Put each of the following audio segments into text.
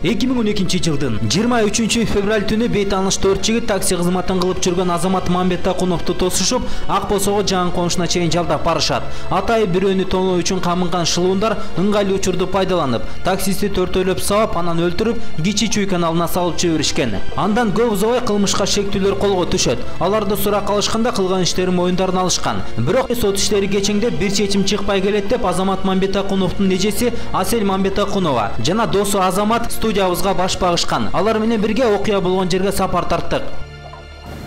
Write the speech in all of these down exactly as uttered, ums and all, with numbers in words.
эки миң он экинчи жылдын жыйырма үчүнчү февраль түнү бейтааныш төрт жигит такси кызматын кылып жүргөн Азамат Мамбетакуновду тосушуп, Ак Босого жакын конушуна чейин жалдап барышат. Атайы бирөөнү тоноо үчүн камынган шылуундар ыңгайлуу учурду пайдаланып, таксисти төртөөлөп сабап, анан өлтүрүп, Кичи Чүй каналына салып жиберишкен. Андан көп узабай кылмышка шектүүлөр колго түшөт. Аларды сурак алышканда кылган иштерин моюндарын алышкан. Бирок сот иштери кечеңдеп бир чечим чыкпай келет деп Азамат Мамбетакуновдун эжеси Асель Мамбетакунова жана досу Азамат студиябызга баш багышкан. Алар менен бирге окуя болгон жерге сапар тарттык.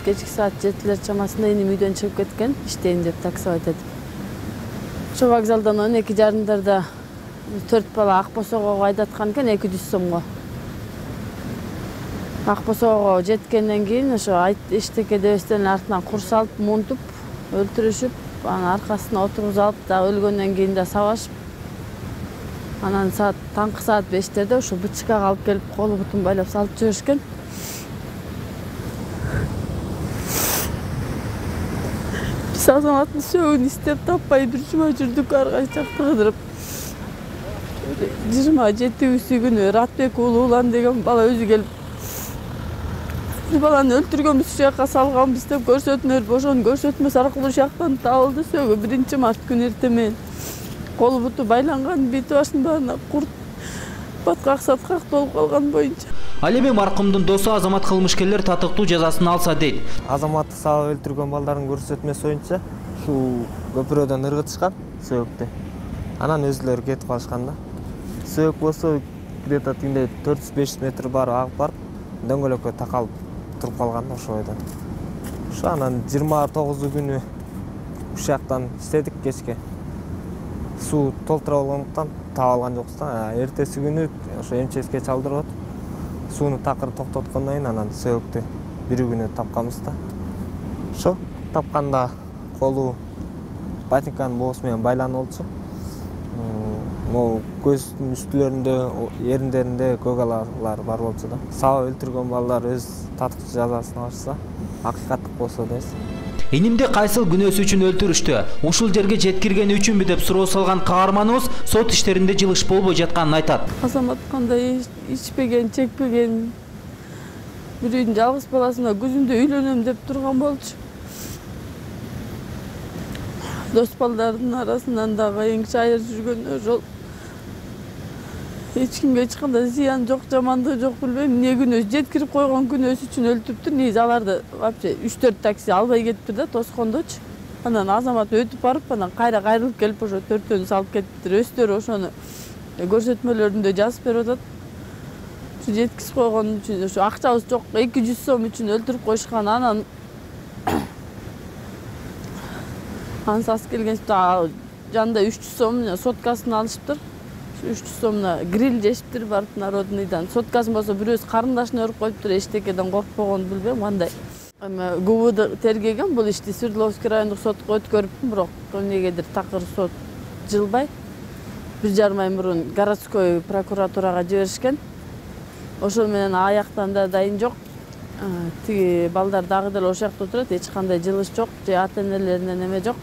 Кечки саат жетилер чамасында энем үйдөн чыгып кеткен, иштейм деп таксовать этип. Ошо вокзалдан он эки жарымдарда төрт бала Ак Босого айдаткан экен эки жүз сомго. Ак Босого жеткенден кийин ошо эчтеке дебестен артынан курс алып, мунтуп, өлтүрүшүп, анан аркасына отургузуп алып, да өлгөндөн кийин да сабашып. Анан саат таңкы саат бештерде ошо бычкага алып келип, колу бутун байлап салып жиберишкен. Биз Азаматтын сөөгүн издеп таппай бир жума жүрдүк, ар кайсы жакта кыдырып. жыйырма жетинчи күнү Ратбек Улуулан деген бала өзү келип, биз баланы өлтүргөнбүз, ушул жака салганбыз деп көрсөтмөлөр, ошону көрсөтмөсү аркылуу ушул жактан табылды. Сөөгү биринчи март күнү эртең менен колу буту байланган, бети башын баарына курт, баткак саткак толуп калган боюнча. Ал эми маркумдун досу Азамат кылмышкерлер татыктуу жазасын алса дейт. Азаматты сабап өлтүргөн балдардын көрсөтмөсү боюнча ушул көпүрөдөн ыргытышкан сөөгүктү. Анан өзүлөрү кетип калышкан да. Сөөк болсо где-то тиндей төрт жүз беш жүз метр бар агып барып, дөңгөлөккө такалып туруп калган да ошол бойдон. Ошо анан жыйырма тогузу күнү ушул жактан иштедик кечке. Суу толтура болгондуктан таап алган жокпуз да. Эртеси күнү ошо МЧСке чалдырып сууну такыр токтоткондон кийин анан сөөктү бир күнү тапканбыз да. Ошо тапканда колу ботинканын боосу менен байланып болчу. Могу көздүн үстүлөрүндө, эриндеринде көк алалар бар болчу да. Сабап өлтүргөн балдар өз татыктуу жазасын алышса, акыйкаттык болсо дейбиз. Энимди кайсыл күнөөсү үчүн өлтүрүштү? Ушул жерге жеткиргени үчүнбү деп суроо салган каарманыбыз сот иштеринде жылыш болбой жатканын айтат. Азамат кандай ичпеген, чекпеген, бир үйдүн жалгыз баласына күзүндө үйлөнөм деп турган болчу. Дос балдардын арасынан дагы эң чайыр жүргөн ошол. Эч кимге эч кандай зыян жок, жамандыгы жок, билбейм. Эмне күнөөсү жеткирип койгон күнөөсү үчүн өлтүрүптүр. Негизи аларды вообще үч төрт такси албай кетиптир да, тоскондочу. Анан Азамат өтүп барып, анан кайра кайрылып келип ошо төртөөнү салып кетиптир. Өздөрү ошону көрсөтмөлөрүндө жазып берип атат. Ушу жеткирип койгон үчүн, ошо акчабыз жок, эки жүз сом үчүн өлтүрүп коюшкан. Анан ансас келген жанында үч жүз сом соткасын алышыптыр. үч жүз сомуна гриль жешиптир барып народныйдан. Соткасын болсо бирөөсү карындашын өрүп коюптур, эчтекеден коркпогон, билбейм кандай. Эми ГУБД тергеген бул ишти Свердловский райондук сотко өткөрүптүр, бирок эмнегедир такыр сот жылбай бир жарым ай мурун городской прокуратурага жиберишкен. Ошол менен аяктан да дайын жок. Тиги балдар дагы деле ошол жакта отурат, эч кандай жылыш жок, же ата-энелеринен эме жок.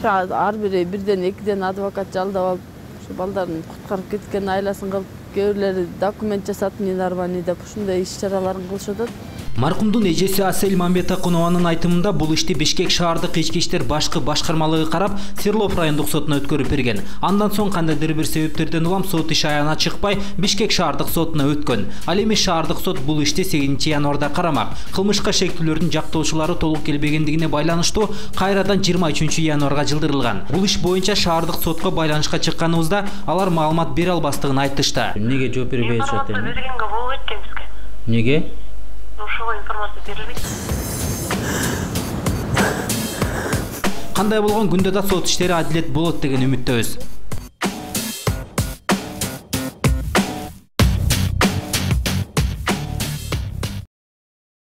Ар бири бирден экиден адвокат жалдап алып, ушу балдарын куткарып кеткен айласын кылып, кээ бирлери документ жасап, ненарбани деп ушундай иш-чараларын кылышып атат. Маркумдун эжеси Асель Мамбетакунованын айтымында бул ишти Бишкек шаардык ички иштер башкы башкармалыгы карап, Свердлов райондук сотуна өткөрүп берген. Андан соң кандайдыр бир себептерден улам сот иши аягына чыкпай, Бишкек шаардык сотуна өткөн. Ал эми шаардык сот бул ишти сегизинчи январда карамак. Кылмышка шектүүлөрдүн жактоочулары толук келбегендигине байланыштуу кайрадан жыйырма үчүнчү январга жылдырылган. Бул иш боюнча шаардык сотко байланышка чыкканыбызда алар маалымат бере албастыгын айтышты. Эмнеге жооп бербей атышат эми? Бергенге болбойт да бизге. Эмнеге? Ошого информация берилбейт. Кандай болгон күндө да сот иштери адилет болот деген үмүттөбүз.